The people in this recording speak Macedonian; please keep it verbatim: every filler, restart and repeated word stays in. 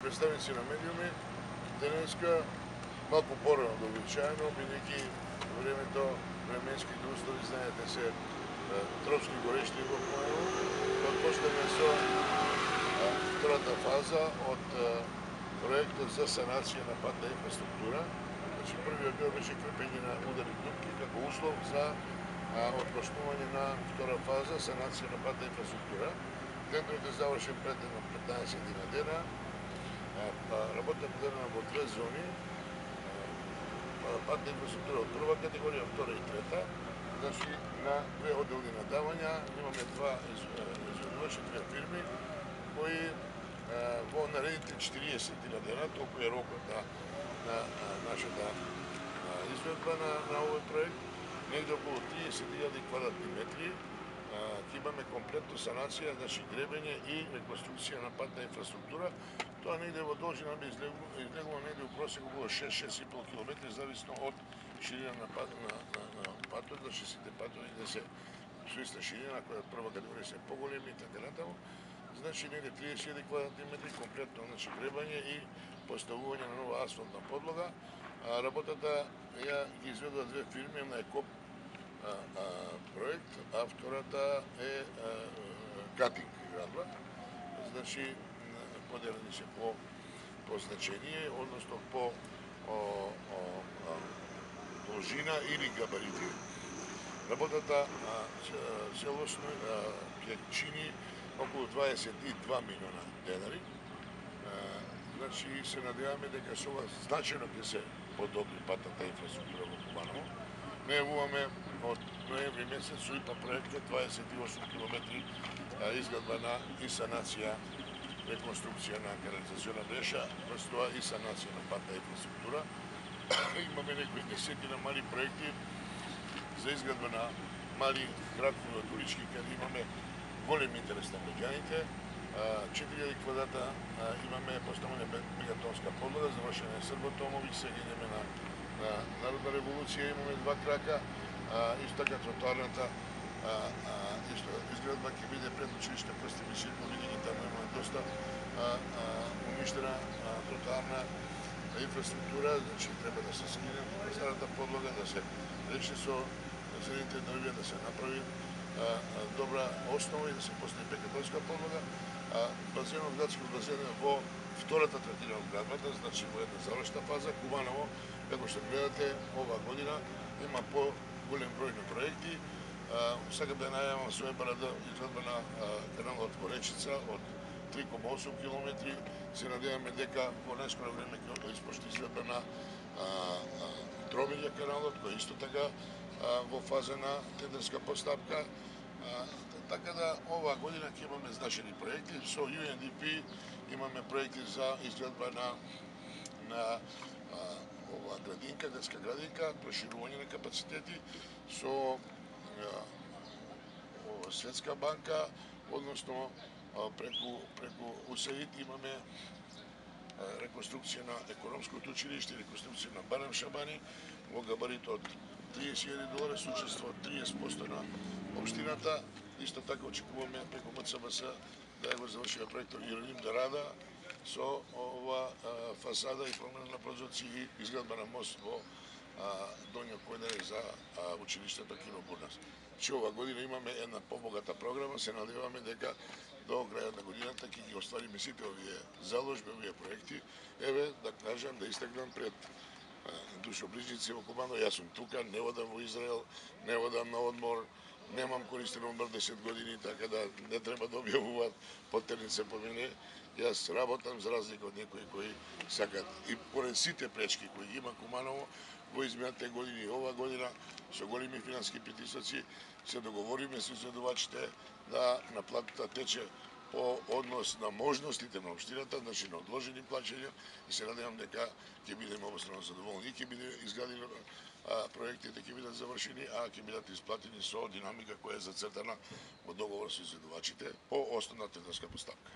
представници на медиуми, денеска малку порано од обичаено, бидејќи времето, временските услови, знаете се, тропски горешти во Куманово, отпочнеме со втората фаза од проектот за санација на патна инфраструктура. Значи, првиот дел беше крепење на ударни дупки како услов за отпочнување на втора фаза санација на патна инфраструктура. Тендерот е завршен пред петнаесет дена. Работата поделена во две зони. Патна инфраструктура од прва категорија, втора и трета. Значи, на две одделни надавања имаме два изведувачи, две фирми, кои во наредните четириесет дена, толку е рокот на, на нашата изведба на, на овој проект, негде околу триесет илјади квадратни метри, ќе имаме комплетно санација, значи гребење и реконструкција на патна инфраструктура. Тоа негде во должина би излегло негде у просек околу шест-шест и пол километри, зависно од ширина на, пат, на, на, на патот, значи сите патови да се со иста ширина, која прва категорија се поголеми и така натаму. Значи негде триесет илјади квадратни метри комплетно, значи гребање и поставување на нова асфалтна подлога. А, работата ја ги изведува две фирми, една е КОП а, а, проект, а втората е а, Катинг градба. Значи поделени се по по значение, односно по о, о, о, должина или габарити. Работата целосно ќе чини околу дваесет и два милиона денари. Значи се надеваме дека со ова значајно ќе се подобри патната инфраструктура во Куманово. Најавуваме од ноември месец со ИПА проектот дваесет и осум километри изградба на и санација, реконструкција на канализациона мрежа, плюс тоа и санација на патна инфраструктура. Имаме некои десетина мали проекти за изградба на мали градови од улички, каде имаме голем интерес на граѓаните. четири илјади квадрата имаме поставена мегатонска подлога, завршена е Срботомови, сега идеме на, на Народна револуција, имаме два крака, исто така тротоарната изградба ќе биде пред училиште Крсти Миширко, бидејќи таму имаме доста уништена тротоарна инфраструктура, значи треба да се скине старата подлога, да се речи со зелените дрвја, да се направи добра основа и да се постави бекатонска подлога. Базенот, градскиот базен е во втората третина од градбата, значи во една завршна фаза. Куманово, како што гледате, оваа година има по голем број на проекти. Сакам да најавам со ЕБРД изградба на каналот во Речица од три кома осум километри. Се надеваме дека во најскоро време ќе испочне изградба на Тромилја каналот, кој исто така во фаза на тендерска постапка. Така да оваа година ќе имаме значајни проекти. Со Ю Ен Ди Пи имаме проекти за изградба на на оваа градинка, детска градинка, проширување на капацитети со Светска банка, односно преку преку У С А И Д имаме реконструкција на економското училиште, реконструкција на Банем Шабани во габарит од триесет илјади долари со учество од триесет проценти на општината. Исто така очекуваме преку М Ц Б С да го завршиме проектот Иеролим да Рада со ова фасада и промена на прозорци и изградба на мост во Доњо Којдаре за училиштето Кино Бурнас. Че ова година имаме една побогата програма, се надеваме дека до крајот на годината ќе ги оствариме сите овие заложби, овие проекти. Еве, да кажам, да истакнам пред душоближници во Куманово, јас сум тука, не одам во Израел, не одам на одмор, немам користен одмор десет години, така да не треба да објавуваат потернице по мене. Јас работам за разлика од некои кои сакат. И поред сите пречки кои има Куманово во изминатите години и ова година, со големи финански притисоци, се договориме со изведувачите да наплатата тече по однос на можностите на општината, значи на одложени плаќања, и се надевам дека ќе бидеме обострано задоволни и ќе биде изградени проектите, ќе бидат завршени, а ќе бидат исплатени со динамика која е зацртана во договор со изведувачите по основна тендерска постапка.